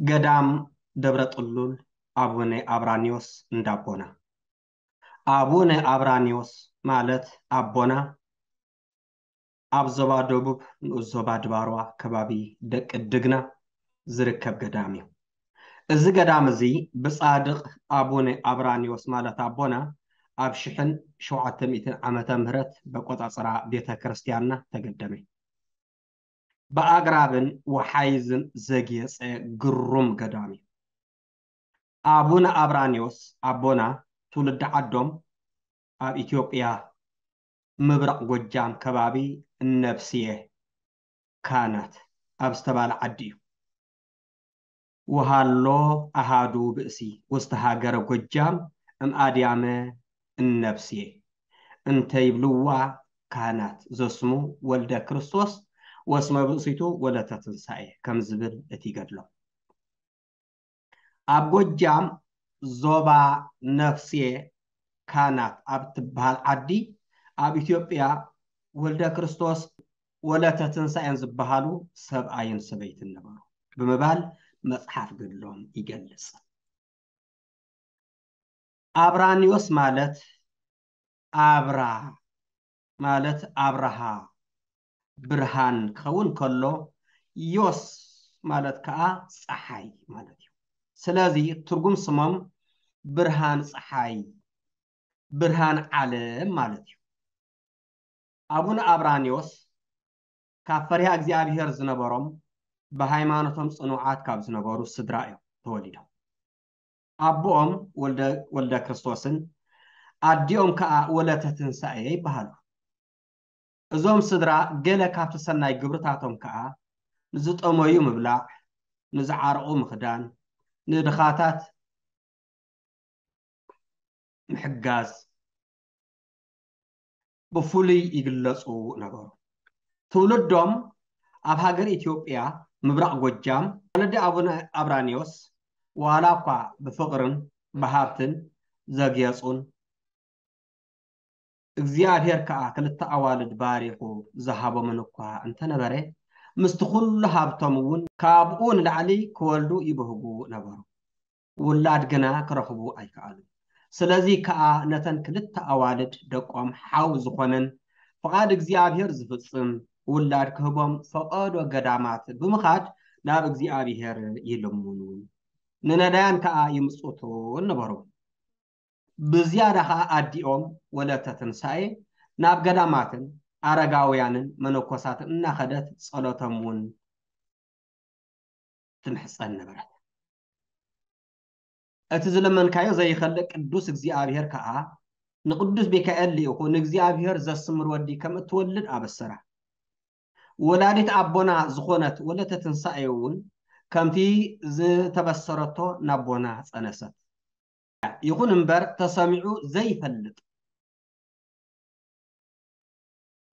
ገዳም ደብረ ጥሉል ኣቡነ ኣብራኒዎስ እንዳቦና። ኣቡነ ኣብራኒዎስ ማለት ኣቦና ኣብ ዞባ ደቡብ ንኡስ ዞባ ድባርዋ ከባቢ ደቂ ድግና ዝርከብ ገዳም እዩ። እዚ ገዳም እዚ ብጻድቕ ኣቡነ ኣብራኒዎስ ማለት ኣቦና ኣብ ሽሕን ሸውዓተ ሚእትን ዓመተ ምህረት በቆጻጽራ ቤተ ክርስቲያንና ተገደመ። ብኣግራብን ወሓይዝን ዘግየጸ ግሩም ገዳም እዩ። ኣቡነ ኣብራኒዎስ ኣቦና ትውልዲ ዓዶም ኣብ ኢትዮጵያ ምብራቕ ጎጃም ከባቢ እነብስየ ካህናት ኣብ ዝተባለ ዓዲ እዩ። ወሃሎ ኣሃዱ ብእሲ ውስተ ሃገረ ጎጃም እምኣድያመ እነብስየ እንተ ይብልዋ ካህናት ዘስሙ ወልደ ክርስቶስ ወስመ ብእሲቱ ወለተ ትንሳኤ ከም ዝብል እቲ ገድሎም። ኣብ ጎጃም ዞባ ነፍስየ ካህናት ኣብ ትበሃል ዓዲ ኣብ ኢትዮጵያ ወልደ ክርስቶስ ወለተ ትንሳኤን ዝበሃሉ ሰብኣይን ሰበይትን ነበሩ ብምባል መጽሓፍ ገድሎም ይገልጽ። ኣብራኒዎስ ማለት ኣብራ ማለት ኣብርሃ ብርሃን ክኸውን ከሎ ዮስ ማለት ከዓ ፀሓይ ማለት እዩ። ስለዚ ትርጉም ስሞም ብርሃን ፀሓይ፣ ብርሃን ዓለም ማለት እዩ። ኣቡነ ኣብራኒዎስ ካብ ፈሪሃ እግዚኣብሔር ዝነበሮም ብሃይማኖቶም ጽኑዓት ካብ ዝነበሩ ስድራ እዮም ተወሊዶም። ኣቦኦም ወልደ ክርስቶስን ኣዲኦም ከኣ ወለተ ትንሳኤ ይበሃሉ። እዞም ስድራ ገለ ካብቲ ሰናይ ግብርታቶም ከኣ ንዝጠመዩ ምብላዕ፣ ንዝዓረቑ ምኽዳን፣ ንድኻታት ምሕጋዝ ብፍሉይ ይግለጹ ነበሩ። ትውልዶም ኣብ ሃገር ኢትዮጵያ ምብራቕ ጎጃም ወለዲ ኣቡነ ኣብራኒዎስ ዋላ እኳ ብፍቕርን ብሃብትን ዘግየጹን እግዚኣብሔር ከኣ ክልተ ኣዋልድ ባሪኹ ዝሃቦምን እኳ እንተነበረ ምስቲ ኩሉ ሃብቶም እውን ካብኡ ንላዕሊ ክወልዱ ይብህጉ ነበሩ። ውላድ ግና ክረኽቡ ኣይከኣሉን። ስለዚ ከኣ ነተን ክልተ ኣዋልድ ደቆም ሓው ዝኾነን ፍቓድ እግዚኣብሔር ዝፍጽም ውላድ ክህቦም ፈቐዶ ገዳማት ብምኻድ ናብ እግዚኣብሔር ይልምኑ፣ ንነዳያን ከኣ ይምጽቱ ነበሩ። ብዝያዳ ከኣ ኣዲኦም ወለተ ትንሳኤ ናብ ገዳማትን ኣረጋውያንን መነኮሳትን እናኸደት ጸሎቶም እውን ትምሕጸን ነበረት። እቲ ዝለመንካዮ ዘይኸልእ ቅዱስ እግዚኣብሔር ከኣ ንቅዱስ ሚካኤል ልኢኹ ንእግዚኣብሔር ዘስምር ወዲ ከም እትወልድ ኣበሰራ። ወላዲት ኣቦና ዝኾነት ወለተ ትንሳኤ እውን ከምቲ ዝተበሰረቶ ናቦና ጸነሰት። ይኹን እምበር ተሰሚዑ ዘይፈልጥ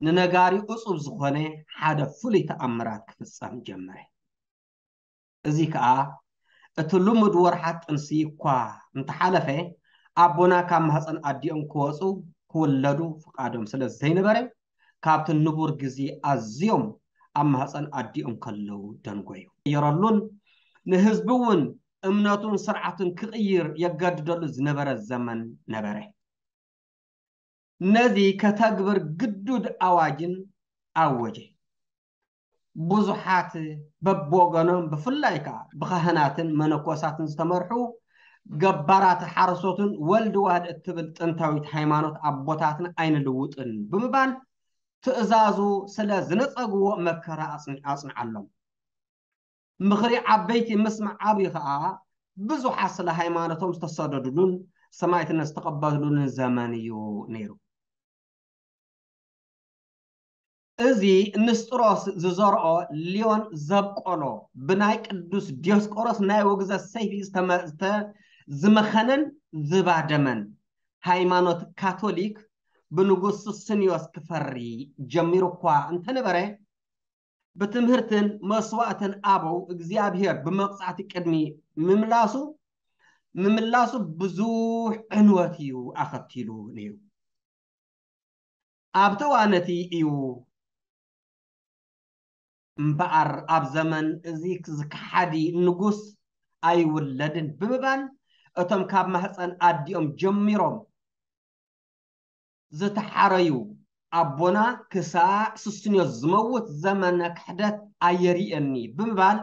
ንነጋሪ እጹብ ዝኾነ ሓደ ፍሉይ ተኣምራት ክፍጸም ጀመረ። እዚ ከኣ እቲ ልሙድ ወርሓት ጥንሲ እኳ እንተሓለፈ ኣቦና ካብ ማህፀን ኣዲኦም ክወፁ ክውለዱ ፍቓዶም ስለ ዘይነበረ ካብቲ ንቡር ግዜ ኣዝዮም ኣብ ማህፀን ኣዲኦም ከለዉ ደንጎዩ። ይረሉን ንህዝቢ እውን እምነቱን ስርዓቱን ክቕይር የገድደሉ ዝነበረ ዘመን ነበረ። ነዚ ከተግብር ግዱድ ኣዋጅን ኣወጀ። ብዙሓት በብወገኖም ብፍላይ ከኣ ብካህናትን መነኮሳትን ዝተመርሑ ገባራት ሓረሶትን ወልድ ዋህድ እትብል ጥንታዊት ሃይማኖት ኣቦታትና ኣይንልውጥን ብምባል ትእዛዙ ስለ ዝነጸግዎ መከራ ኣጽንዓሎም። ምኽሪ ዓበይቲ ምስማዕ ዓብዩ ኸዓ ብዙሓት ስለ ሃይማኖቶም ዝተሰደዱሉን ሰማዕትነት ዝተቐበሉሉን ዘመን እዩ ነይሩ። እዚ ንስጥሮስ ዝዘርኦ ሊዮን ዘብቆሎ ብናይ ቅዱስ ዲዮስቆሮስ ናይ ውግዘት ሰይፊ ዝተመ- ዝተ- ዝመኸነን ዝባደመን ሃይማኖት ካቶሊክ ብንጉስ ሱስንዮስ ክፈሪ ጀሚሩ እኳ እንተነበረ፣ ብትምህርትን መስዋእትን ኣበው እግዚኣብሔር ብመቕጻዕቲ ቅድሚ ምምላሱ፣ ምምላሱ ብዙሕ ዕንወት እዩ ኣኸቲሉ ነይሩ። ኣብቲ እዋን እቲ እዩ እምበኣር፣ ኣብ ዘመን እዚ ዝከሓዲ ንጉስ ኣይውለድን ብምባል፣ እቶም ካብ ማህፀን ኣዲኦም ጀሚሮም ዝተሓረዩ ኣቦና ክሳዕ ሱስንዮስ ዝመውት ዘመነ ክሕደት ኣየርእየኒ ብምባል፣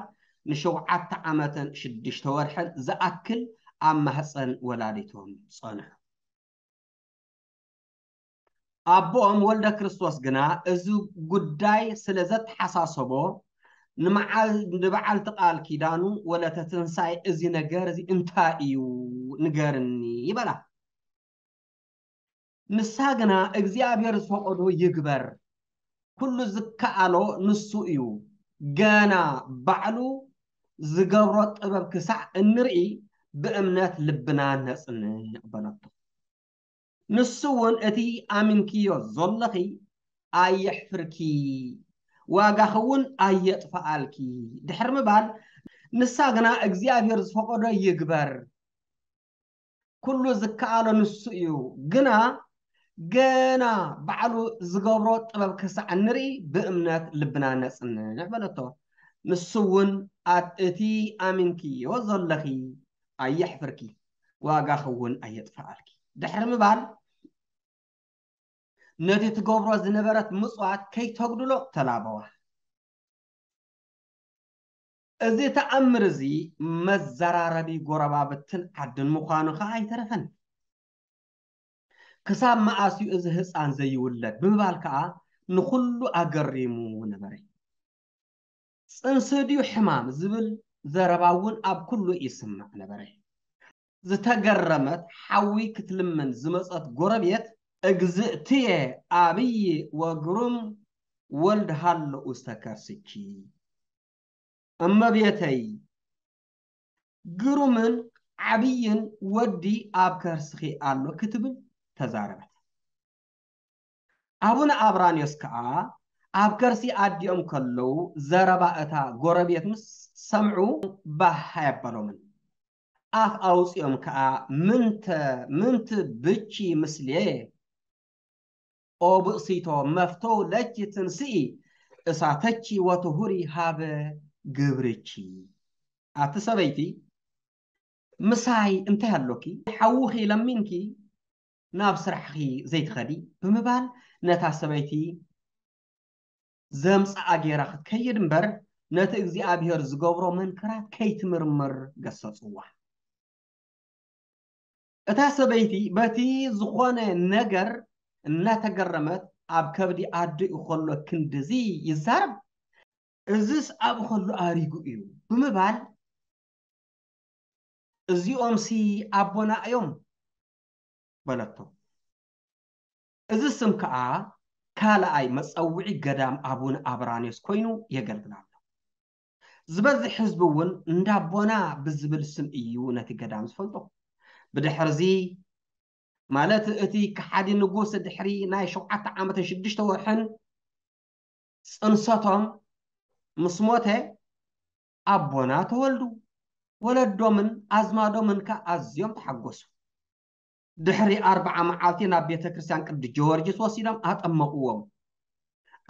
ንሸውዓተ ዓመትን ሽዱሽተ ወርሕን ዝኣክል ኣብ ማህፀን ወላዲቶም ጸንሑ። ኣቦኦም ወልደ ክርስቶስ ግና እዚ ጉዳይ ስለ ዘተሓሳሰቦ፣ ንመዓል-፣ ንበዓልቲ ቃል ኪዳኑ ወለተ ትንሳኤ፣ "እዚ ነገር እዚ እንታይ እዩ? ንገርኒ" ይበላ። ንሳ ግና፣ "እግዚኣብሔር ዝፈቐዶ ይግበር፣ ኩሉ ዝከኣሎ ንሱ እዩ፣ ገና ባዕሉ ዝገብሮ ጥበብ ክሳዕ እንርኢ ብእምነት ልብና ነጽንዕ" በለቶ። ንሱ እውን፣ "እቲ ኣሚንክዮ ዘለኺ ኣየሕፍርኪ፣ ዋጋኺ እውን ኣየጥፍኣልኪ" ድሕሪ ምባል፣ ንሳ ግና፣ "እግዚኣብሔር ዝፈቐዶ ይግበር፣ ኩሉ ዝከኣሎ ንሱ እዩ፣ ግና ገና ባዕሉ ዝገብሮ ጥበብ ክሳዕ ንርኢ ብእምነት ልብና ነጽንዕ" በለቶ። ንሱ እውን፣ "ኣት-፣ እቲ ኣሚንክዮ ዘለኺ ኣየሕፍርኪ፣ ዋጋኺ እውን ኣየጥፍኣልኪ" ድሕሪ ምባል፣ ነቲ ትገብሮ ዝነበረት ምጽዋት ከይተጉድሎ ተላበዋ። እዚ ተኣምር እዚ መዘራረቢ ጎረባብትን ዓድን ምዃኑ ኸኣ ኣይተረፈን። "ክሳብ መኣስ እዩ እዚ ህጻን ዘይውለድ?" ብምባል ከኣ ንኹሉ ኣገሪሙ ነበረ። "ጽንሲ ድዩ ሕማም?" ዝብል ዘረባ እውን ኣብ ኩሉ ይስማዕ ነበረ። ዝተገረመት፣ ሓዊ ክትልምን ዝመጸት ጎረቤት፣ "እግዝእትየ፣ ኣብይ ወግሩም ወልድ ሃሎ ውስተ ከርስኪ፣ እመቤተይ፣ ግሩምን ዓብይን ወዲ ኣብ ከርስኺ ኣሎ" ክትብል ተዛረበት። ኣቡነ ኣብራንዮስ ከኣ ኣብ ከርሲ ኣዲኦም ከለዉ፣ ዘረባ እታ ጎረቤት ምስ ሰምዑ፣ ባህ ኣየበሎምን። ኣፍ ኣውጺኦም ከኣ፣ "ምንተ፣ ምንት ብቺ ምስሌ፣ ኦ ብእሲቶ፣ መፍቶ ለኪ ትንስኢ እሳተኪ ወትሁሪ ሃበ ግብርኪ"። ኣቲ ሰበይቲ፣ "ምሳይ እንታይ ኣሎኪ? ሓውኺ ለሚንኪ ናብ ስራሕኺ ዘይትኸዲ?" ብምባል፣ ነታ ሰበይቲ ዘምጽኣ ጌራ ክትከይድ እምበር፣ ነቲ እግዚኣብሔር ዝገብሮ መንክራት ከይትምርምር ገሰጽዋ። እታ ሰበይቲ በቲ ዝኾነ ነገር እናተገረመት፣ "ኣብ ከብዲ ኣዲኡ ከሎ ክንድዚ ይዛረብ? እዝስ ኣብኡ ከሎ ኣሪጉ እዩ" ብምባል፣ "እዚኦምሲ ኣቦና እዮም" በለቶ። እዚ ስም ከኣ ካልኣይ መጸውዒ ገዳም ኣቡነ ኣብራንዮስ ኮይኑ የገልግል ኣሎ። ዝበዝሕ ህዝቢ እውን እንዳ ኣቦና ብዝብል ስም እዩ ነቲ ገዳም ዝፈልጦ። ብድሕርዚ፣ ማለት እቲ ከሓዲ ንጉስ ድሕሪ ናይ ሸውዓተ ዓመትን ሽዱሽተ ወርሕን ጽንሰቶም ምስ ሞተ፣ ኣቦና ተወልዱ። ወለዶምን ኣዝማዶምን ከኣ ኣዝዮም ተሓጎሱ። ድሕሪ ኣርብዓ መዓልቲ ናብ ቤተ ክርስቲያን ቅዱስ ጀወርጊስ ወሲዶም ኣጠመቕዎም።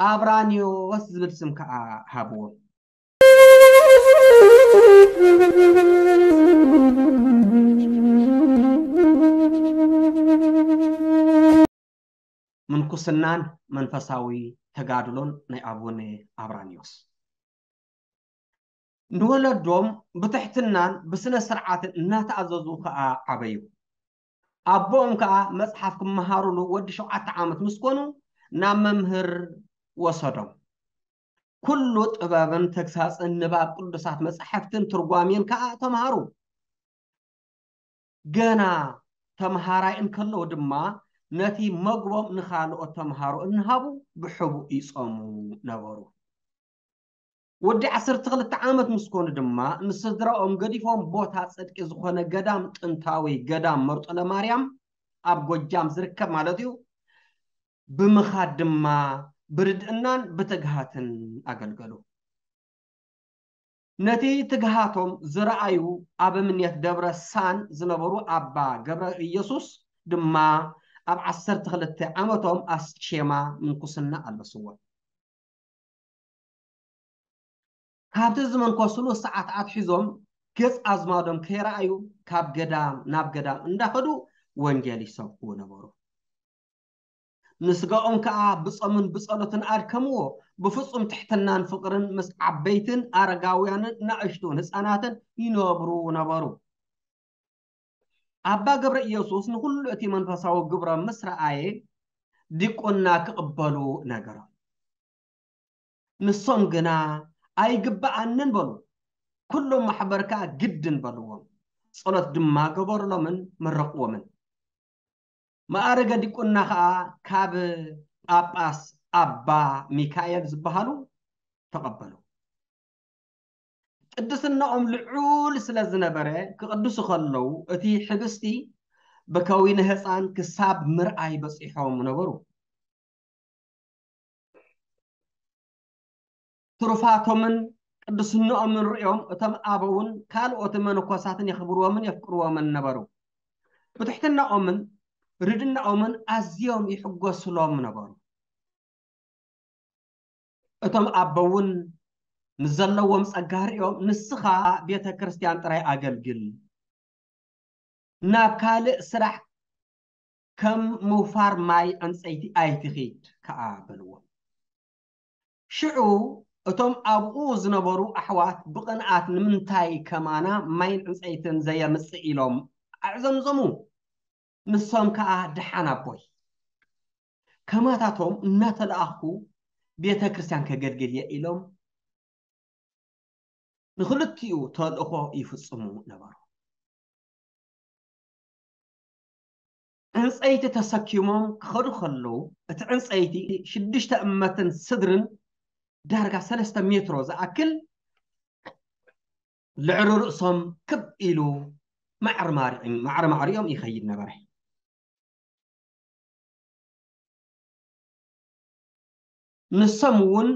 ኣብራንዮስ ዝብል ስም ከኣ ሃብዎም። ምንኩስናን መንፈሳዊ ተጋድሎን ናይ ኣቡነ ኣብራንዮስ። ንወለዶም ብትሕትናን ብስነ ስርዓትን እናተኣዘዙ ከኣ ዓበዩ። ኣቦኦም ከኣ መጽሓፍ ክመሃሩሉ ወዲ ሸውዓተ ዓመት ምስ ኮኑ ናብ መምህር ወሰዶም። ኩሉ ጥበብን ተግሳጽን ንባብ ቅዱሳት መጻሕፍትን ትርጓሜን ከኣ ተምሃሩ። ገና ተምሃራይ እንከለዉ ድማ ነቲ መግቦም ንኻልኦት ተምሃሮ እናሃቡ ብሕቡእ ይጾሙ ነበሩ። ወዲ ዓሰርተ ክልተ ዓመት ምስ ኮኑ ድማ ንስድራኦም ገዲፎም ቦታ ጽድቂ ዝኾነ ገዳም፣ ጥንታዊ ገዳም መርጦለ ማርያም ኣብ ጎጃም ዝርከብ ማለት እዩ፣ ብምኻድ ድማ ብርድእናን ብትግሃትን ኣገልገሉ። ነቲ ትግሃቶም ዝረኣዩ ኣበምኔት ደብረ ሳን ዝነበሩ ኣባ ገብረ ኢየሱስ ድማ ኣብ ዓሰርተ ክልተ ዓመቶም ኣስኬማ ምንኩስና ኣለስዎም። ካብቲ ዝመንኮስሉ ሰዓት ኣትሒዞም ገጽ ኣዝማዶም ከይረኣዩ ካብ ገዳም ናብ ገዳም እንዳኸዱ ወንጌል ይሰብኩ ነበሩ። ንስጋኦም ከኣ ብጾምን ብጸሎትን ኣድከምዎ። ብፍጹም ትሕትናን ፍቕርን ምስ ዓበይትን ኣረጋውያንን ንኣሽቱን ህጻናትን ይነብሩ ነበሩ። ኣባ ገብረ ኢየሱስ ንኹሉ እቲ መንፈሳዊ ግብሮም ምስ ረኣየ ዲቁና ክቕበሉ ነገሮም። ንሶም ግና ኣይግብኣንን በሉ። ኩሎም ማሕበር ከኣ ግድን በልዎም። ጸሎት ድማ ገበሩሎምን መረቕዎምን። ማዕረገ ዲቁና ከኣ ካብ ጳጳስ ኣባ ሚካኤል ዝበሃሉ ተቐበሉ። ቅድስናኦም ልዑል ስለ ዝነበረ ክቕድሱ ከለዉ እቲ ሕብስቲ ብከዊነ ህፃን ክሳብ ምርኣይ በፂሖም ነበሩ። ትሩፋቶምን ቅድስናኦምን ርእዮም እቶም ኣበውን ካልኦት መነኮሳትን የኽብርዎምን የፍቅርዎምን ነበሩ። ብትሕትናኦምን ርድናኦምን ኣዝዮም ይሕጎስሎም ነበሩ። እቶም ኣቦውን ምስ ዘለዎም ጸጋ ርእዮም፣ "ንስኻ ቤተ ክርስቲያን ጥራይ ኣገልግል፣ ናብ ካልእ ስራሕ ከም ምውፋር ማይ ዕንጸይቲ ኣይትኺድ" ከኣ በልዎም። ሽዑ እቶም ኣብኡ ዝነበሩ ኣሕዋት ብቕንኣት "ንምንታይ ከማና ማይን ዕንጸይትን ዘየምጽእ?" ኢሎም ኣዕዘምዘሙ። ንሶም ከኣ "ደሓን ኣቦይ፣ ከማታቶም እናተለኣኽኩ ቤተ ክርስቲያን ከገልግል እየ" ኢሎም ንኽልቲኡ ተልእኾ ይፍጽሙ ነበሩ። ዕንጸይቲ ተሰኪሞም ክኸዱ ከለዉ፣ እቲ ዕንጸይቲ ሽዱሽተ እመትን ስድርን ዳርጋ ሰለስተ ሜትሮ ዝኣክል ልዕሊ ርእሶም ክብ ኢሉ ማዕረ ማዕሪኦም፣ ማዕረ ማዕሪኦም ይኸይድ ነበረ። ንሶም እውን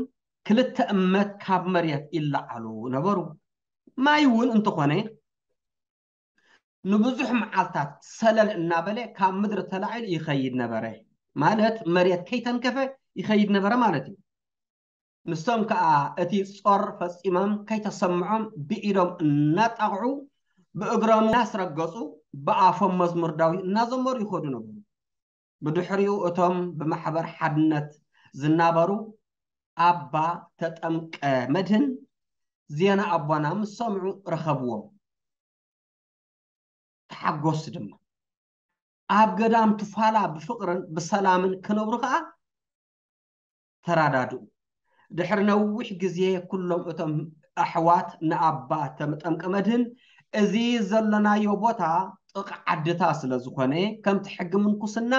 ክልተ እመት ካብ መሬት ይለዓሉ ነበሩ። ማይ እውን እንተኾነ ንብዙሕ መዓልታት ሰለል እናበለ ካብ ምድሪ ተላዒሉ ይኸይድ ነበረ። ማለት መሬት ከይተንከፈ ይኸይድ ነበረ ማለት እዩ። ንሶም ከኣ እቲ ጾር ፈጺሞም ከይተሰምዖም ብኢዶም እናጣቕዑ ብእግሮም እናስረገጹ ብኣፎም መዝሙር ዳዊት እናዘመሩ ይኸዱ ነበሩ። ብድሕሪኡ እቶም ብማሕበር ሓድነት ዝናበሩ ኣባ ተጠምቀ መድህን ዜና ኣቦና ምስ ሰምዑ ረኸብዎም። ተሓጎሱ ድማ። ኣብ ገዳም ትፋላ ብፍቕርን ብሰላምን ክነብሩ ከኣ ተራዳድኡ። ድሕሪ ነዊሕ ግዜ ኩሎም እቶም ኣሕዋት ንኣባ ተጠምቀ መድህን "እዚ ዘሎናዮ ቦታ ጥቓ ዓድታ ስለ ዝኾነ፣ ከምቲ ሕጊ ምንኩስና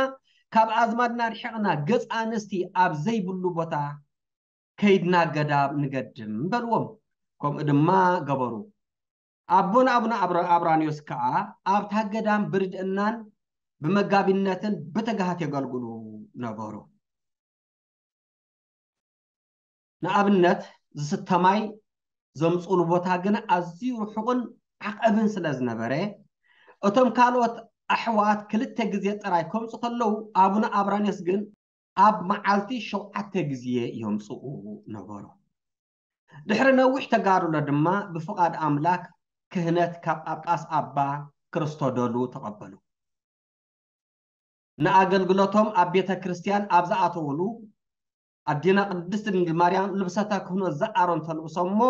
ካብ ኣዝማድና ርሒቕና ገጽ ኣንስቲ ኣብ ዘይብሉ ቦታ ከይድና ገዳም ንገድም" በልዎም። ከምኡ ድማ ገበሩ። ኣቦና ኣቡነ ኣብራ-፣ ኣብራንዮስ ከኣ ኣብታ ገዳም ብርድእናን ብመጋቢነትን ብትግሃት የገልግሉ ነበሩ። ንኣብነት ዝስተ ማይ ዘምጽኡሉ ቦታ ግን ኣዝዩ ርሑቕን ዓቐብን ስለ ዝነበረ፣ እቶም ካልኦት ኣሕዋት ክልተ ግዜ ጥራይ ከምጹ ከለዉ፣ ኣቡነ ኣብራንዮስ ግን ኣብ መዓልቲ ሸውዓተ ግዜ የምጽኡ ነበሩ። ድሕሪ ነዊሕ ተጋድሎ ድማ ብፍቓድ ኣምላክ ክህነት ካብ ጳጳስ ኣባ ክርስቶዶሉ ተቐበሉ። ንኣገልግሎቶም ኣብ ቤተ ክርስቲያን ኣብ ዝኣተውሉ፣ ኣዴና ቅድስት ድንግል ማርያም ልብሰተ ክህኖት ዘኣሮን ተልብሶም እሞ፣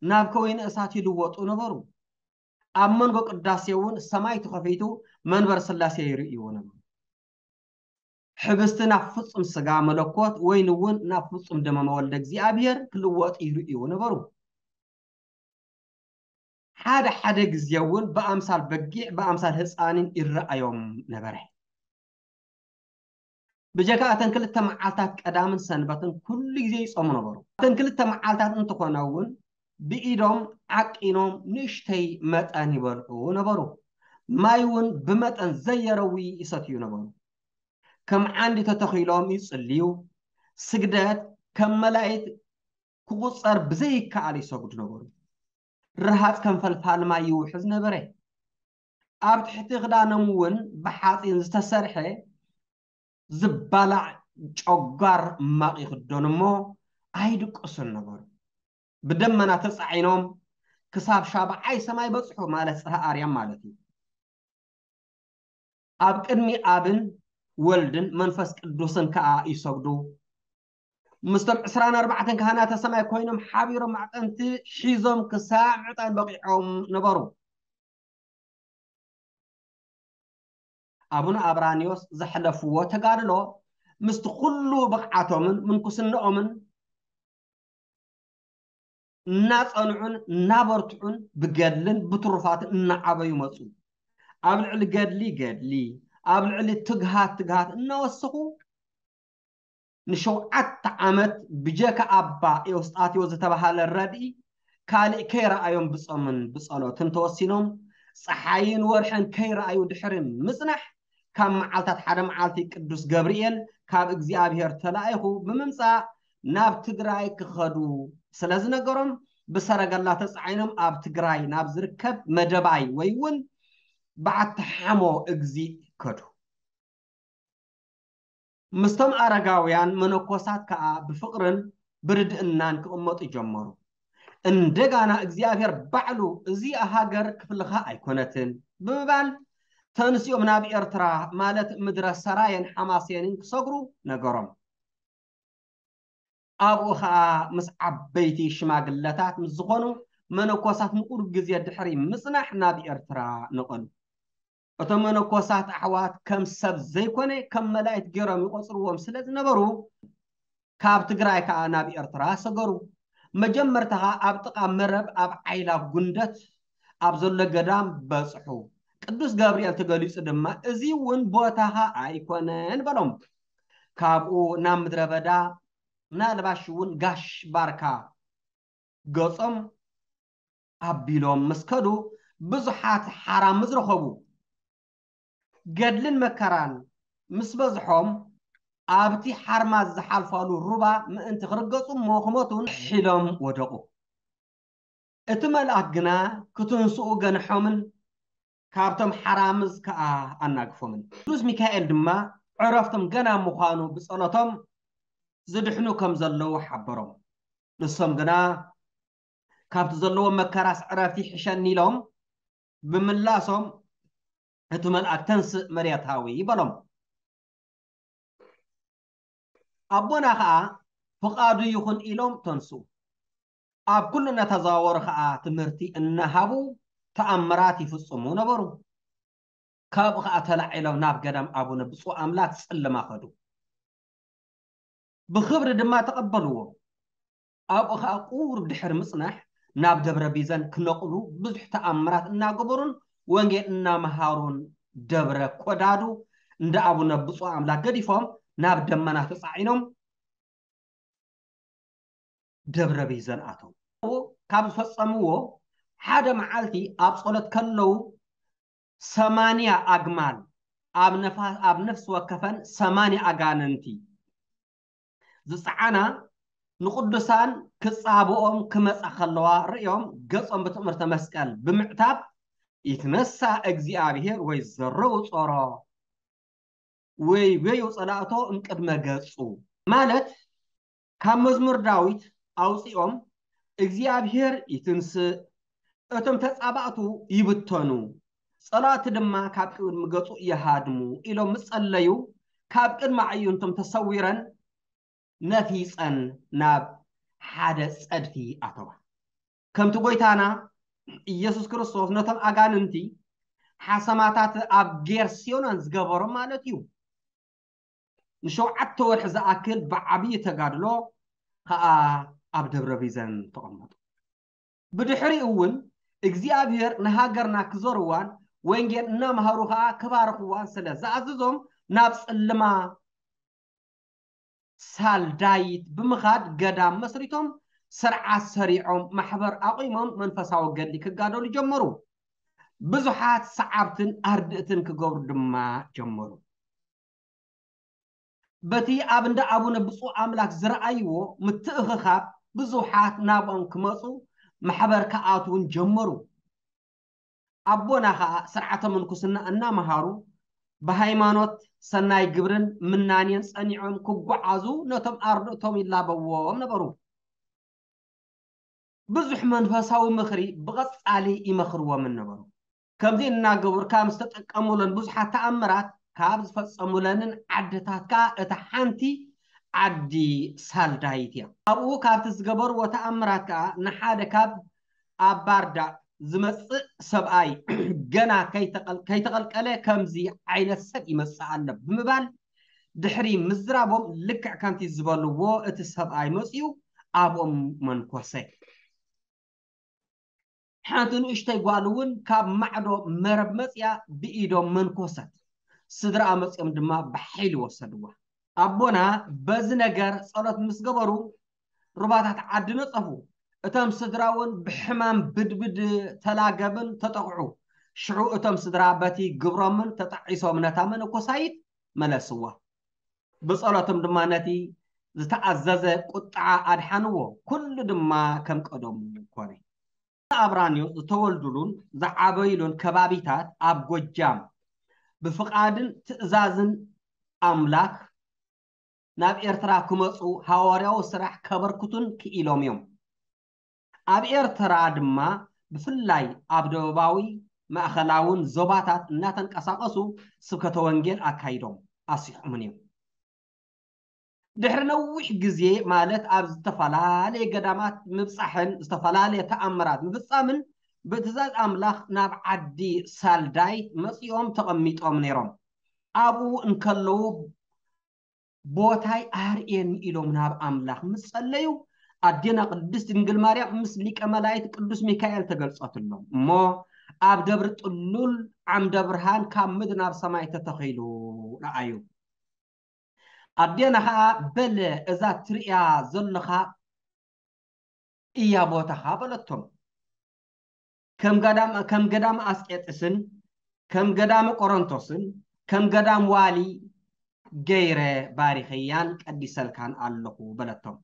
ናብ ከወይኒ እሳት ይልወጡ ነበሩ። ኣብ መንጎ ቅዳሴ እውን ሰማይ ተኸፊቱ መንበር ስላሴ ይርእይዎ ነበሩ። ሕብስቲ ናብ ፍጹም ስጋ መለኮት፣ ወይኒ እውን ናብ ፍጹም ደመ ወልደ እግዚኣብሔር ክልወጥ ይርእይዎ ነበሩ። ሓደ ሓደ ግዜ እውን ብኣምሳል በጊዕ፣ ብኣምሳል ህፃንን ይረኣዮም ነበረ። ብጀካ እተን ክልተ መዓልታት ቀዳምን ሰንበትን ኩሉ ግዜ ይጾሙ ነበሩ። እተን ክልተ መዓልታት እንተኾነ እውን ብኢዶም ዓቂኖም ንእሽተይ መጠን ይበልዑ ነበሩ። ማይ እውን ብመጠን ዘየረዊ ይሰትዩ ነበሩ። ከም ዓንዲ ተተኺሎም ይጽልዩ። ስግደት ከም መላእክት ክቑጸር ብዘይከኣል ይሰግዱ ነበሩ። ረሃጽ ከም ፈልፋል ማይ ይውሕዝ ነበረ። ኣብ ትሕቲ ክዳኖም እውን ብሓጺን ዝተሰርሐ ዝባላዕ ጨጓር ማቕ ይኽደኑ እሞ ኣይድቅሱን ነበሩ። ብደመና ተጻዒኖም ክሳብ ሻብዓይ ሰማይ በጽሑ፣ ማለት ጽርሐ ኣርያም ማለት እዩ። ኣብ ቅድሚ ኣብን ወልድን መንፈስ ቅዱስን ከኣ ይሰግዱ። ምስቶም ዕስራን ኣርባዕተን ካህናተ ሰማይ ኮይኖም ሓቢሮም ማዕጠንቲ ሒዞም ክሳዕ ምዕጣን በቒዖም ነበሩ። ኣቡነ ኣብራኒዮስ ዘሕለፍዎ ተጋድሎ ምስቲ ኩሉ ብቕዓቶምን ምንኩስናኦምን እናጸንዑን እናበርትዑን ብገድልን ብትሩፋትን እናዓበዩ መጹ። ኣብ ልዕሊ ገድሊ ገድሊ፣ ኣብ ልዕሊ ትግሃት ትግሃት እናወሰኹ ንሸውዓተ ዓመት ብጀካ ኣባ ኤውስጣቴዎስ ዝተባሃለ ረድኢ ካልእ ከይረኣዮም ብጾምን ብጸሎትን ተወሲኖም ጸሓይን ወርሕን ከይረኣዩ ድሕሪ ምጽናሕ ካብ መዓልታት ሓደ መዓልቲ ቅዱስ ገብርኤል ካብ እግዚኣብሔር ተላኢኹ ብምምጻእ ናብ ትግራይ ክኸዱ ስለ ዝነገሮም ብሰረገላ ተጻዒኖም ኣብ ትግራይ ናብ ዝርከብ መደባይ ወይ እውን በዓቲ ሓሞ እግዚእ ከዱ። ምስቶም ኣረጋውያን መነኮሳት ከኣ ብፍቕርን ብርድእናን ክቕመጡ ጀመሩ። እንደጋና እግዚኣብሔር ባዕሉ እዚኣ ሃገር ክፍልኻ ኣይኮነትን ብምባል ተንሲኦም ናብ ኤርትራ ማለት ምድረ ሰራየን ሓማሴንን ክሰግሩ ነገሮም። ኣብኡ ኸኣ ምስ ዓበይቲ ሽማግለታት ምስ ዝኾኑ መነኮሳት ንቑሩብ ግዜ ድሕሪ ምጽናሕ ናብ ኤርትራ ነቐሉ። እቶም መነኮሳት ኣሕዋት ከም ሰብ ዘይኮነ ከም መላእክት ገይሮም ይቖጽርዎም ስለ ዝነበሩ ካብ ትግራይ ከኣ ናብ ኤርትራ ሰገሩ። መጀመርታ ኸኣ ኣብ ጥቓ መረብ ኣብ ዓይላ ጉንደት ኣብ ዘሎ ገዳም በጽሑ። ቅዱስ ገብርኤል ተገሊጹ ድማ እዚ እውን ቦታኻ ኣይኮነን በሎም። ካብኡ ናብ ምድረ በዳ ምናልባሽ እውን ጋሽ ባርካ ገጾም ኣቢሎም ምስ ከዱ ብዙሓት ሓራምዝ ረኸቡ። ገድልን መከራን ምስ በዝሖም ኣብቲ ሓርማዝ ዝሓልፋሉ ሩባ ምእንቲ ክርገጹ እሞ ክሞቱን ሒሎም ወደቑ። እቲ መልኣክ ግና ክትንስኡ ገንሖምን ካብቶም ሓራምዝ ከኣ ኣናግፎምን። ቅዱስ ሚካኤል ድማ ዕረፍቶም ገና ምዃኑ ብጸሎቶም ዝድሕኑ ከም ዘለዉ ሓበሮም። ንሶም ግና ካብቲ ዘለዎም መከራስ ዕረፍቲ ይሕሸኒ ኢሎም ብምላሶም እቲ መልኣክ ተንስእ መሬታዊ በሎም። ኣቦና ኸኣ ፍቓዱ ይኹን ኢሎም ተንስኡ። ኣብ ኩሉ እናተዘዋወሩ ኸኣ ትምህርቲ እናሃቡ ተኣምራት ይፍጽሙ ነበሩ። ካብኡ ኸኣ ተላዒሎም ናብ ገዳም ኣቡነ ብፁዕ ኣምላክ ጽልማ ኸዱ። ብኽብሪ ድማ ተቐበልዎ። ኣብኡ ኸኣ ቁሩብ ድሕሪ ምጽናሕ ናብ ደብረ ቢዘን ክነቕሉ ብዙሕ ተኣምራት እናገበሩን ወንጌል እናመሃሩን ደብረ ኮዳዱ እንዳ ኣቡነ ብፁዕ ኣምላክ ገዲፎም ናብ ደመና ተጻዒኖም ደብረ ቢዘን ኣተው። ካብ ዝፈጸምዎ ሓደ መዓልቲ ኣብ ጸሎት ከለዉ ሰማንያ ኣግማል ኣብ ነፋ- ኣብ ነፍሲ ወከፈን ሰማንያ ኣጋንንቲ ዝጸዓና ንቅዱሳን ክጻብኦም ክመጻ ከለዋ ርእዮም ገጾም ብትእምርተ መስቀል ብምዕታብ ይትነሳ እግዚኣብሔር ወይ ዘረው ጾሮ ወይ ወዩ ጸላእቶ እምቅድመ ገጹ ማለት ካብ መዝሙር ዳዊት ኣውጺኦም እግዚኣብሔር ይትንስእ፣ እቶም ተጻባእቱ ይብተኑ፣ ጸላእቲ ድማ ካብ ቅድሚ ገጹ ይሃድሙ ኢሎም ምስ ጸለዩ ካብ ቅድሚ ኣዕይንቶም ተሰዊረን ነፊጸን ናብ ሓደ ጸድፊ ኣተዋ። ከምቲ ጎይታና ኢየሱስ ክርስቶስ ነቶም ኣጋንንቲ ሓሰማታት ኣብ ጌርሴኖን ዝገበሮም ማለት እዩ። ንሸውዓተ ወርሒ ዝኣክል ብዓብዪ ተጋድሎ ኸኣ ኣብ ደብረ ቢዘን ተቐመጡ። ብድሕሪኡ እውን እግዚኣብሔር ንሃገርና ክዞርዋን ወንጌል እናምሃሩ ኸኣ ክባርኽዋን ስለ ዝኣዘዞም ናብ ጽልማ ሳልዳይት ብምኻድ ገዳም መስሪቶም ስርዓት ሰሪዖም ማሕበር ኣቑሞም መንፈሳዊ ገድሊ ክጋደሉ ጀመሩ። ብዙሓት ሰዓብትን ኣርድእትን ክገብሩ ድማ ጀመሩ። በቲ ኣብ እንዳ ኣቡነ ብፁዕ ኣምላክ ዝረኣይዎ ምትእኽኻብ ብዙሓት ናብኦም ክመፁ ማሕበር ክኣትውን ጀመሩ። ኣቦና ኸኣ ስርዓተ ምንኩስና እናመሃሩ ብሃይማኖት ሰናይ ግብርን ምናኔን ጸኒዖም ክጓዓዙ ነቶም ኣርድእቶም ይላበዎም ነበሩ። ብዙሕ መንፈሳዊ ምኽሪ ብቐጻሊ ይመኽርዎምን ነበሩ። ከምዚ እናገበሩ ካብ ዝተጠቀሙለን ብዙሓት ተኣምራት ካብ ዝፈጸሙለንን ዓድታት ከኣ እታ ሓንቲ ዓዲ ሳልዳይት እያ። ኣብኡ ካብቲ ዝገበርዎ ተኣምራት ከኣ ንሓደ ካብ ኣብ ባርዳ ዝመጽእ ሰብኣይ ገና ከይተቐል- ከይተቐልቀለ ከምዚ ዓይነት ሰብ ይመጽእ ኣሎ ብምባል ድሕሪ ምዝራቦም ልክዕ ከምቲ ዝበልዎ እቲ ሰብኣይ መጺኡ ኣብኦም መንኮሰ። ሓንቲ ንእሽተይ ጓል እውን ካብ ማዕዶ መረብ መጽያ ብኢዶም መንኮሰት። ስድራኣ መጽዮም ድማ ብሓይሊ ወሰድዋ። ኣቦና በዚ ነገር ጸሎት ምስ ገበሩ ሩባታት ዓዲ ነጸፉ። እቶም ስድራ እውን ብሕማም ብድብድ ተላገብን ተጠቕዑ። ሽዑ እቶም ስድራ በቲ ግብሮምን ተጣዒሶም ነታ መነኮሳይት መለስዋ። ብጸሎቶም ድማ ነቲ ዝተኣዘዘ ቁጥዓ ኣድሓንዎ። ኩሉ ድማ ከም ቀደሙ ኮነ። ኣብራንዮስ ዝተወልዱሉን ዝዓበይሉን ከባቢታት ኣብ ጎጃም ብፍቓድን ትእዛዝን ኣምላኽ ናብ ኤርትራ ክመጹ ሃዋርያዊ ስራሕ ከበርክቱን ክኢሎም እዮም። ኣብ ኤርትራ ድማ ብፍላይ ኣብ ደቡባዊ ማእኸላውን ዞባታት እናተንቀሳቐሱ ስብከተ ወንጌል ኣካይዶም ኣስሒቑምን እዮም። ድሕሪ ነዊሕ ግዜ ማለት ኣብ ዝተፈላለየ ገዳማት ምብጻሕን ዝተፈላለየ ተኣምራት ምፍጻምን ብትእዛዝ ኣምላኽ ናብ ዓዲ ሳልዳይት መጺኦም ተቐሚጦም ነይሮም። ኣብኡ እንከለዉ ቦታይ ኣርእየኒ ኢሎም ናብ ኣምላኽ ምስ ጸለዩ ኣዴና ቅድስት ድንግል ማርያም ምስ ሊቀ መላእክት ቅዱስ ሚካኤል ተገልጸትሎም እሞ ኣብ ደብሪ ጥሉል ዓምደ ብርሃን ካብ ምድሪ ናብ ሰማይ ተተኺሉ ረኣዩ። ኣዴና ኸኣ በለ እዛ ትርእያ ዘለኻ እያ ቦታኻ በለቶም። ከም ገዳም ከም ገዳም ኣስቄጥስን ከም ገዳም ቆሮንቶስን ከም ገዳም ዋሊ ገይረ ባሪኸያን ቀዲሰልካን ኣለኹ በለቶም።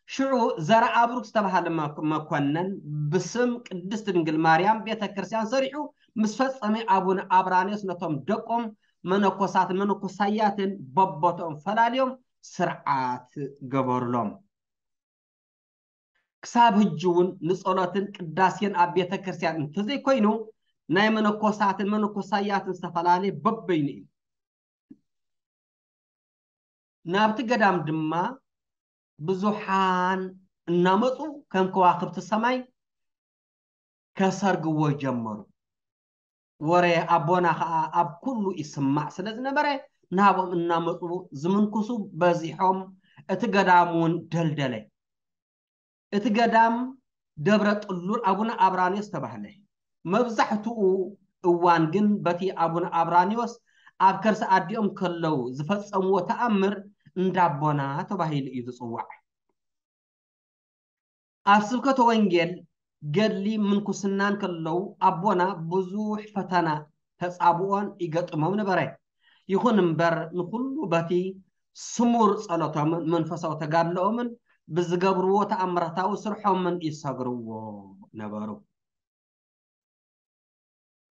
ሽዑ ዘርኣብሩክ ዝተባህለ መኮነን ብስም ቅድስት ድንግል ማርያም ቤተ ክርስቲያን ሰሪሑ ምስ ፈጸመ ኣቡነ ኣብራንዮስ ነቶም ደቆም መነኮሳትን መነኮሳያትን በቦቶም ፈላልዮም ስርዓት ገበሩሎም። ክሳብ ሕጂ እውን ንጸሎትን ቅዳሴን ኣብ ቤተ ክርስቲያን እንተዘይኮይኑ ናይ መነኮሳትን መነኮሳያትን ዝተፈላለየ በበይኑ እዩ። ናብቲ ገዳም ድማ ብዙሓን እናመፁ ከም ከዋኽብቲ ሰማይ ከሰርግዎ ጀመሩ። ወረ ኣቦና ኸዓ ኣብ ኩሉ ይስማዕ ስለ ዝነበረ ናብኦም እናመፁ ዝምንኩሱ በዚሖም እቲ ገዳም እውን ደልደለ። እቲ ገዳም ደብረ ጥሉል ኣቡነ ኣብራንዮስ ተባህለ። መብዛሕትኡ እዋን ግን በቲ ኣቡነ ኣብራንዮስ ኣብ ከርሲ ኣዲኦም ከለዉ ዝፈጸምዎ ተኣምር እንዳቦና ተባሂሉ እዩ ዝጽዋዕ። ኣብ ስብከተ ወንጌል ገድሊ ምንኩስናን ከለዉ ኣቦና ብዙሕ ፈተና ተጻብኦን ይገጥሞም ነበረ። ይኹን እምበር ንኹሉ በቲ ስሙር ጸሎቶምን መንፈሳዊ ተጋድሎኦምን ብዝገብርዎ ተኣምራታዊ ስርሖምን ይሰግርዎ ነበሩ።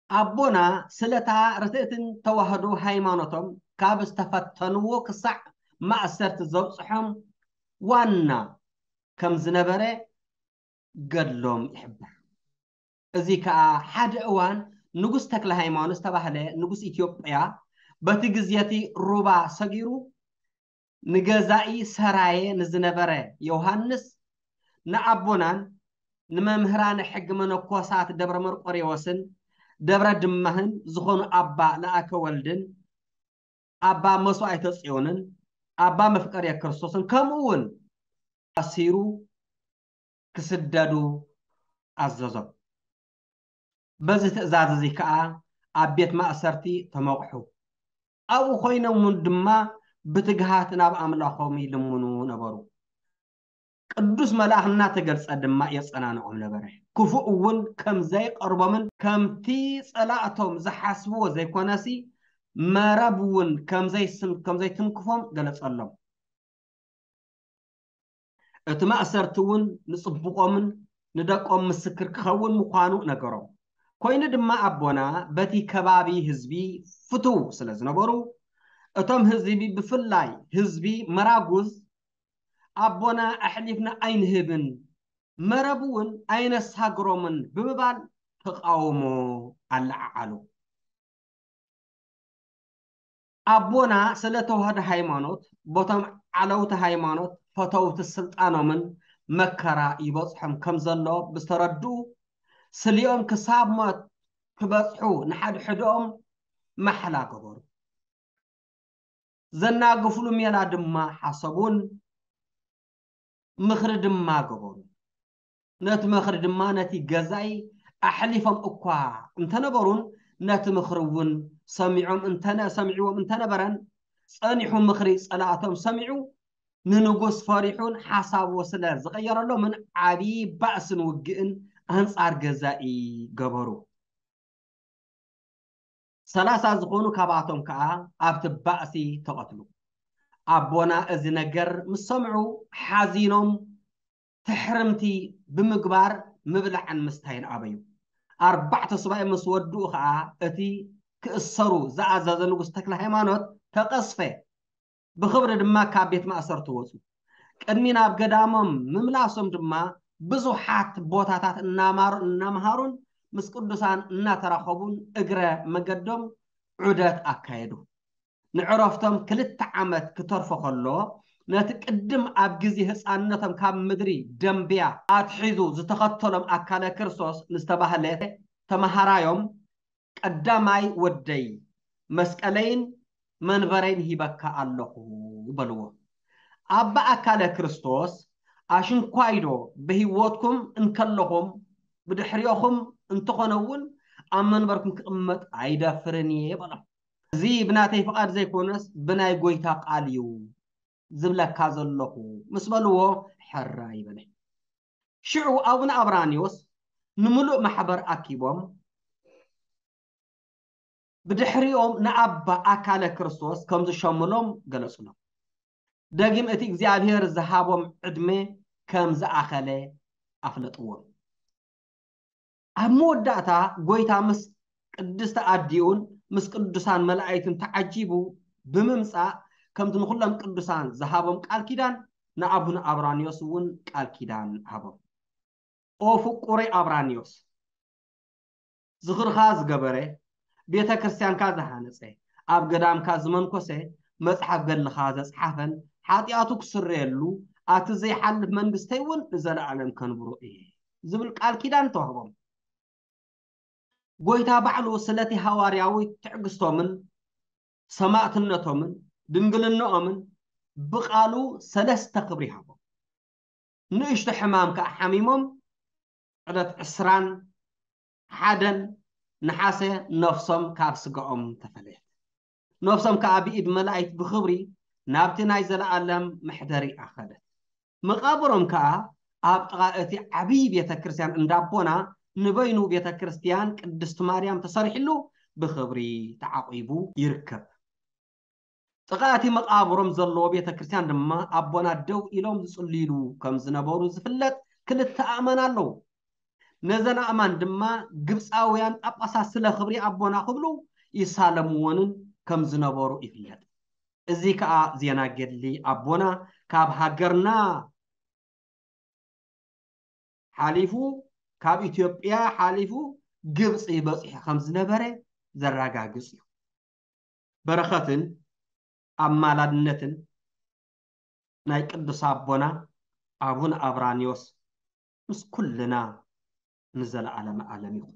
ኣቦና ስለታ ርትእትን ተዋህዶ ሃይማኖቶም ካብ ዝተፈተንዎ ክሳዕ ማእሰርቲ ዘብፅሖም ዋና ከም ዝነበረ ገድሎም ይሕብር። እዚ ከዓ ሓደ እዋን ንጉስ ተክለ ሃይማኖት ዝተባህለ ንጉስ ኢትዮጵያ በቲ ግዜ እቲ ሩባ ሰጊሩ ንገዛኢ ሰራየ ንዝነበረ ዮሃንስ ንኣቦናን ንመምህራነ ሕጊ መነኮሳት ደብረ መርቆሬዎስን ደብረ ድማህን ዝኾኑ ኣባ ለኣከ ወልድን ኣባ መስዋዕተ ጽዮንን ኣባ መፍቀርየ ክርስቶስን ከምኡ እውን ኣሲሩ ክስደዱ ኣዘዞም። በዚ ትእዛዝ እዚ ከኣ ኣብ ቤት ማእሰርቲ ተመቕሑ። ኣብኡ ኮይኖም እውን ድማ ብትግሃት ናብ ኣምላኾም ይልምኑ ነበሩ። ቅዱስ መልኣኽ እናተገልጸ ድማ የጸናንዖም ነበረ። ክፉእ እውን ከም ዘይቀርቦምን ከምቲ ጸላእቶም ዝሓስብዎ ዘይኮነሲ መረብ እውን ከምዘይስን-፣ ከምዘይትንክፎም ገለጸሎም። እቲ ማእሰርቲ እውን ንጽቡቖምን ንደቆም ምስክር ክኸውን ምዃኑ ነገሮም። ኮይኑ ድማ ኣቦና በቲ ከባቢ ህዝቢ ፍቱው ስለ ዝነበሩ፣ እቶም ህዝቢ ብፍላይ ህዝቢ መራጉዝ ኣቦና ኣሕሊፍና ኣይንህብን፣ መረብ እውን ኣይነሳግሮምን ብምባል ተቃውሞ ኣለዓዓሉ። ኣቦና ስለ ተዋህዶ ሃይማኖት፣ ቦቶም ዓለውቲ ሃይማኖት ፈተውቲ ስልጣኖምን መከራ ይበጽሖም ከም ዘሎ ብዝተረድኡ፣ ስሊኦም ክሳብ ሞት ክበጽሑ ንሓድሕድኦም ማሕላ ገበሩ። ዘናግፍሉ ሜላ ድማ ሓሰቡን ምኽሪ ድማ ገበሩ። ነቲ ምኽሪ ድማ ነቲ ገዛኢ ኣሕሊፎም እኳ እንተነበሩን፣ ነቲ ምኽሪ እውን ሰሚዖም እንተነ-፣ ሰሚዕዎም እንተነበረን፣ ጸኒሑ ምኽሪ ጸላእቶም ሰሚዑ፣ ንንጉስ ፈሪሑን ሓሳቡ ስለ ዝቐየረሎምን ዓብዪ ባእስን ውግእን ኣንጻር ገዛኢ ገበሩ። ሰላሳ ዝኾኑ ካብኣቶም ከኣ ኣብቲ ባእሲ ተቐትሉ። ኣቦና እዚ ነገር ምስ ሰምዑ ሓዚኖም ትሕርምቲ ብምግባር ምብላዕን ምስታይን ኣበዩ። ኣርባዕተ ሱባኤ ምስ ወድኡ ኸኣ እቲ ክእሰሩ ዝኣዘዘ ንጉስ ተክለ ሃይማኖት ተቐስፈ። ብኽብሪ ድማ ካብ ቤት ማእሰርቲ ወጹ። ቅድሚ ናብ ገዳሞም ምምላሶም ድማ ብዙሓት ቦታታት እናማሩ-፣ እናመሃሩን ምስ ቅዱሳን እናተራኸቡን እግረ መገዶም ዑደት ኣካየዱ። ንዕረፍቶም ክልተ ዓመት ክተርፎ ከሎ፣ ነቲ ቅድም ኣብ ግዜ ህፃንነቶም ካብ ምድሪ ደምብያ ኣትሒዙ ዝተኸተሎም ኣካለ ክርስቶስ ንዝተባህለ ተማሃራዮም፣ "ቀዳማይ ወደይ፣ መስቀለይን መንበረይን ሂበካ ኣለኹ" በልዎ። ኣባ ኣካለ ክርስቶስ፣ "ኣሽንኳይዶ ብህይወትኩም እንከለኹም ብድሕሪኦኹም እንተኾነ እውን ኣብ መንበርኩም ክቕመጥ ኣይደፍርን እየ" በሎም። "እዚ ብናተይ ፍቓድ ዘይኮነስ ብናይ ጎይታ ቃል እዩ ዝብለካ ዘለኹ" ምስ በልዎ፣ ሕራይ በለ። ሽዑ ኣቡነ ኣብራንዮስ ንምሉእ ማሕበር ኣኪቦም ብድሕሪኦም ንኣባ ኣካለ ክርስቶስ ከም ዝሸምሎም ገለጹሎም። ደጊም እቲ እግዚኣብሔር ዝሃቦም ዕድመ ከም ዝኣኸለ ኣፍለጥዎም። ኣብ መወዳእታ ጎይታ ምስ ቅድስቲ ኣዲኡን ምስ ቅዱሳን መላእክትን ተዓጂቡ ብምምጻእ፣ ከምቲ ንኹሎም ቅዱሳን ዝሃቦም ቃል ኪዳን ንኣቡነ ኣብራንዮስ እውን ቃል ኪዳን ሃቦም። "ኦ ፍቁረይ ኣብራንዮስ፣ ዝኽርኻ ዝገበረ፣ ቤተ ክርስቲያንካ ዝሃነጸ፣ ኣብ ገዳምካ ዝመንኮሰ፣ መጽሓፍ ገድልኻ ዘጽሓፈን ሓጢኣቱ ክስረየሉ፣ ኣቲ ዘይሓልፍ መንግስተይ እውን ንዘለኣለም ከንብሮ እየ" ዝብል ቃል ኪዳን ተዋህቦም። ጎይታ ባዕሉ ስለቲ ሃዋርያዊ ትዕግስቶምን ሰማእትነቶምን ድንግልናኦምን ብቃሉ ሰለስተ ክብሪ ሃቦም። ንእሽቶ ሕማም ከኣ ሓሚሞም ዕለት ዕስራን ሓደን ነሓሰ ነፍሶም ካብ ስጋኦም ተፈለየት። ነፍሶም ከኣ ብኢድ መላእክት ብኽብሪ ናብቲ ናይ ዘለኣለም መሕደሪ ኣኸደት። መቓብሮም ከኣ ኣብ ጥቓ እቲ ዓብዪ ቤተ ክርስቲያን እንዳቦና ንበይኑ ቤተ ክርስቲያን ቅድስቲ ማርያም ተሰሪሕሉ ብኽብሪ ተዓቂቡ ይርከብ። ጥቓ እቲ መቓብሮም ዘለዎ ቤተ ክርስቲያን ድማ ኣቦና ደው ኢሎም ዝጽልዩሉ ከም ዝነበሩ ዝፍለጥ ክልተ ኣእማን ኣለዉ። ነዘን ኣእማን ድማ ግብፃውያን ጳጳሳት ስለ ክብሪ ኣቦና ክብሉ ይሳለምዎንን ከም ዝነበሩ ይፍለጥ። እዚ ከኣ ዜና ገድሊ ኣቦና ካብ ሃገርና ሓሊፉ፣ ካብ ኢትዮጵያ ሓሊፉ ግብፂ በፂሑ ከም ዝነበረ ዘረጋግፅ እዩ። በረኸትን ኣማላድነትን ናይ ቅዱስ ኣቦና ኣቡነ ኣብራንዮስ ምስ ኩልና ንዘለዓለመ ዓለም ይኹን።